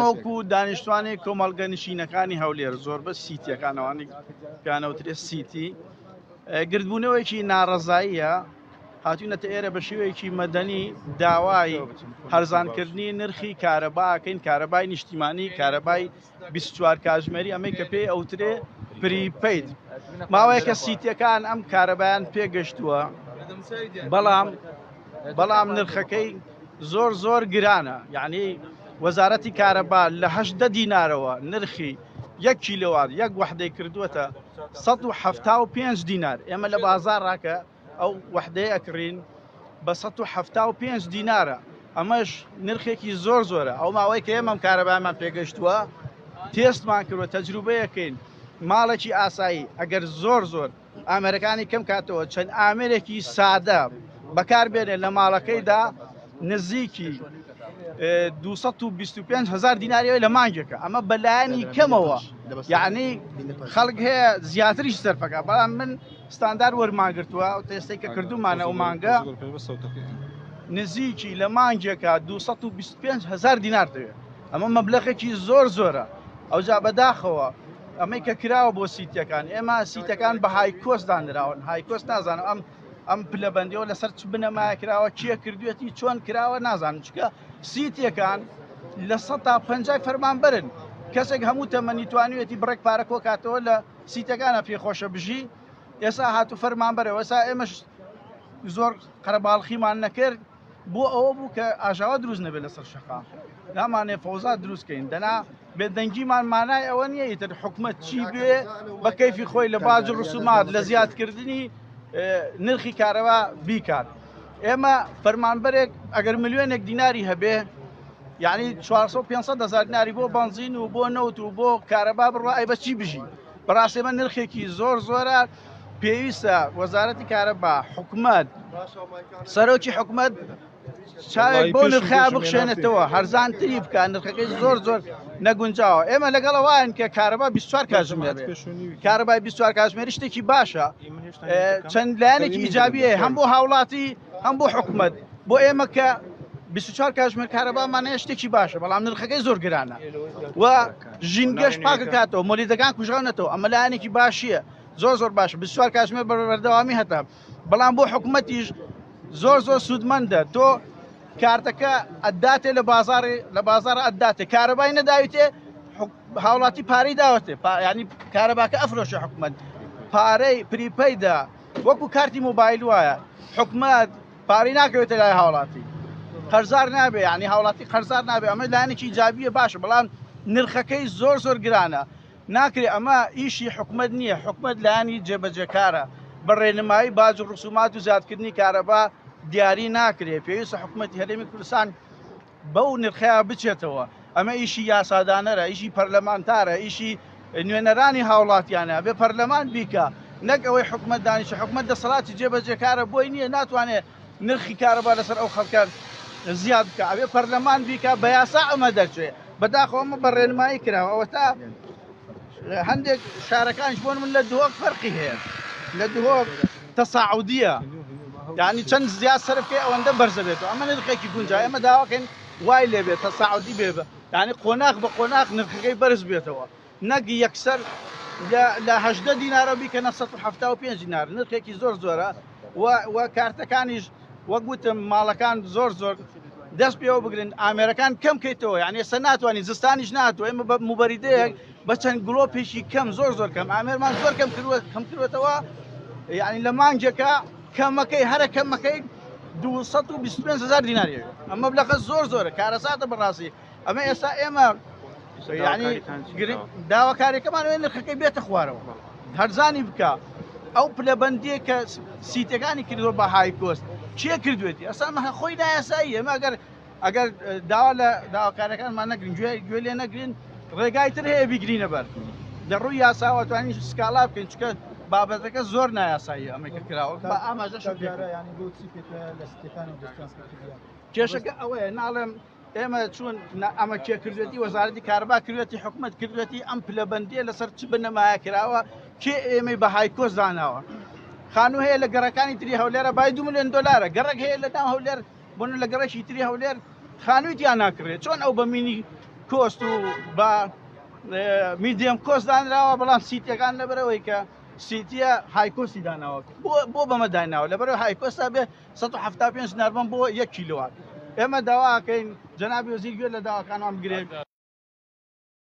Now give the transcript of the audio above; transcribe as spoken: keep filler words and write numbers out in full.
ئێمە وەکو دانیشتوانی کۆمەڵگە نشینەکانی هەولێر، زۆربە سیتیەکانەوانی پیانەوترێ سیتی، گردبوونەوەیەکی ناڕەزاییە. هاتوینەتە ئێرە بە شێوەیەکی مەدەنی داوای هەرزانکردنی نرخی کارەباکەین، کارەبای نیشتیمانی، کارەبای بیست و چوار کاتژمێری، ئەمەی کە پێی ئەوترێ prepaid. ماوەیەکە سیتیەکان ئەم کارەبایان پێگەشتووە، بەڵام بەڵام نرخەکەی زۆر زۆر گرانە. یعنی وەزارەتی کارەبا لە هەشدە دینارەوە نرخی یەک کیلۆوات یەک وەحدەی کردووەتە سەد و حەفتا و پێنج دینار. ئێمە لە بازار ڕاکە ئەو وەحدەیە ئەکڕین بە سەد و حەفتا و پێنج دینارە، ئەمەش نرخێکی زۆر زۆرە. ئەو ماوەی کە ئێمەم کارەبامان پێگەشتووە تێستمان کردووە، تەجروبەیەکەین. ماڵێکی ئاسایی ئەگەر زۆر زۆر ئامێرەکانی کەم کاتەوە، چەند ئامێرێکی سادە بەکاربێنێ لە ماڵەکەیدا نزیکی دووسەد و بیست و پێنج هەزار دیناریەوەی لە مانگێکە. ئەمە بەلایەنی کەمەوە، یعنی خەڵک هەیە زیاتریش سەرفەکە، بەڵام من ستاندار وەرمانگرتووە. ئەو تێستەی کە کردومانە ئەو مانگە نزیکی لە مانگێکە دووسەد و بیست و پێنج هەزار دینار دەوێت. ئەمە مەبلەغێکی زۆر زۆرە. ئەوجا بەداخەوە ئەمەی کە کراوە بۆ سیتەکان، ئێمە سیتەکان بە high cost دانراون. high cost نازانم ئەم ئەم پلەبەندیەوە لەسەر چ بنەمایە کراوە، کێ کردوێتی، چۆن کراوە نازانم، چونکە سیتیەکان لە سەد تا پەنجای فەرمانبەرن. کەسێک هەموو تەمەنی توانیوێتی بڕێک پارە کۆکاتەوە لە سیتەکانە پێخۆشە بژی، ئێستا هاتوو فەرمانبەرەوە. ئێستا ئێمەش زۆر قەرەباڵخیمان نەکرد بۆ ئەوە بوو کە ئاژاوە دروست نەبێت لەسەر شەقام، نامانێ فەوزا دروستکەین. دەنا بێدەنگیمان مانای ئەوە نییە ئیتر حکومەت چی بێ بە کەیفی خۆی لە باج و ڕسومات لە زیادکردنی نرخی کارەبا بیکات. ئێمە فەرمانبەرێک ئەگەر ملیۆنێک دیناری هەبێ، یعنی چوارسەد و پێنج سەد هەزار دیناری بۆ بەنزین و بۆ نەوت و بۆ کارەبا بڕوا، ئەی بە چی بژی؟ بەڕاستی ئێمە نرخێکی زۆر زۆرە. پێویستە وەزارەتی کارەبا، حکومەت، سەرۆکی حکومەت چاوێک بۆ نرخیا بخشێنێتەوە، هەرزانتری بکە. نرخەکەی زۆر زۆر نەگونجاوە. ئێمە لەگەڵ ئەوان کە کارەبا بیست و چوار کاتژمێر بێ، کارەبای بیست و چوار کاتژمێری شتێکی باشە، چەند لایەنێکی ئیجابیە هەم بۆ هاوڵاتی هەم بۆ حکومەت. بۆ ئێمە کە بیست و چوار کاتژمێر کارەبامان هەیە شتێکی باشە، بەڵام نرخەکەی زۆر گرانە و ژینگەش پاکەکاتەوە، مۆلیدەکان کوژاونەتەوە. ئەمە لایەنێکی باشیە، زۆر زۆر باشە. بیست و چوار کاتژمێر بەردەوامی هەتا، بەڵام بۆ حکومەتیش زۆر زۆر سوودمەندە. تۆ کارتەکە ئەداتێ لە بازاری، لە بازار ئەداتێ، کارەبای نەداویتێ، هاوڵاتی پارەی داوەتێ، یعنی کارەباکە ئەفرۆشە حکومەت پارەی prepaid ە، وەکو کارتی مۆبایل وایە. حکومەت پارەی ناکەوێتە لای هاوڵاتی، قەرزار نابێ، یعنی هاوڵاتی قەرزار نابێ. ئەمە لایەنێکی ئیجابیە باشە، بەڵام نرخەکەی زۆر زۆر گرانە. ناکرێ ئەمە ئیشی حکومەت نییە، حکومەت لایەنی جێبەجێکارە. بە ڕێنمایی باج و ڕسومات و زیادکردنی کارەبا دیاری ناکرێ. پێویستە حکومەتی هەرێمی کوردستان بەو نرخەیە بچێتەوە. ئەمە ئیشی یاسادانەرە، ئیشی پەرلەمانتارە، ئیشی نوێنەرانی هاوڵاتیانە. بێ پەرلەمان بیکە، نەک ئەوەی حکومەت دانیشە. حکومەت دەسەڵاتی جێبەجێکارە، بۆی نییە، ناتوانێت نرخی کارەبا لەسەر ئەو خەڵکە زیاد بکە. ئەبێ پەرلەمان بیکە، بە یاسا ئەمە دەرچێ. بەداخەوە ئەمە بە ڕێنمایی کراوە. ئەوە تا هەندێک شارەکانش بۆن من لە دهۆک فەرقی هەیە، لە دهۆک تەساعودیە، یعنی چەند زیاد سەرفکەی ئەوەندە بەرزە بێتەوە. ئەمە نرخێکی گونجا. ئێمە داواکەین وای لێبێت تەساعودی بێ، یعنی قۆناغ بە قۆناغ نرخەکەی بەرز بێتەوە، نەک یەکسەر لە هەژدە دینارە بیکەنە سەد و حەفتا و پێنج دینار. نرخێکی زۆر زۆرە و کارتەکانیش وەک وتم ماڵەکان زۆر زۆر دەست پێوە بگرن، ئامێرەکان کەم کەیتەوە. یعنی ئێستا ناتوانین، زستانیش ناتوە. ئێمە بە موبەریدەیەک بە چەند گڵۆپێکی کەم، زۆر زۆر کەم، ئامێرمان زۆر کەم کردووە، کەم کردووەتەوە. یعنی لە مانگێکە کەمەکەی هەرە کەمەکەی دووسەد و بیست و پێنج هەزار دیناریە. ئەمە مەبلەغە زۆر زۆرە، کارەساتە بەڕاستی. ئەمە ئێستا ئێمە یعنی داواکاریەکەمان ئەوەیە نرخەکەی بێتە خوارەوە، هەرزانی بکە. ئەو پلەبەندیە کە سیتەکانی کردووە بە high cost چیە کردوێتی؟ ئەسا ئەمە خۆی نایاسایی. ئێمە ئەگەر ئەگەر داوا لە داواکارەکانمان نەگرین، گوێ گوێ لێ نەگرین، ڕێگای تر هەیە بیگرینە بەر. لە ڕووی یاساوە توانین سکاڵا بکەین، چونکە بابەتەکە زۆر نایاساییە ئەمەی کە کراوە. بە ئاماژەش پێ کێشەکە ئەوەیە، ناڵێم ئێمە چون ئەمە کێ کردوێتی، وەزارەتی کارەبا کردوێتی، حکومەت کردوێتی، ئەم پلەبەندیە لەسەر چ بنەمایە کراوە، کێ ئێمەی بە high cost داناوە. خانوو هەیە لە گەڕەکانی تری هەولێرە بای دوو ملیۆن دۆلارە، گەڕەک هەیە لە ناو هەولێر، بۆ لە گەڕەکی تری هەولێر خانووی تیا ناکڕێت. چۆن ئەو بە مینی cost و بە medium cost دانراوە، بەڵام سیتیەکان لەبەرەوەی کە سیتیە high cost ی داناوە. بۆ بەمە دایناوە؟ لەبەرەوە high cost ا بێ سەد و حەفتا و پێنج دینار بەم بۆ یەک کیلۆوات. ئێمە داواکەین جەنابی وەزیر گوێ لە داواکانمان بگرێت.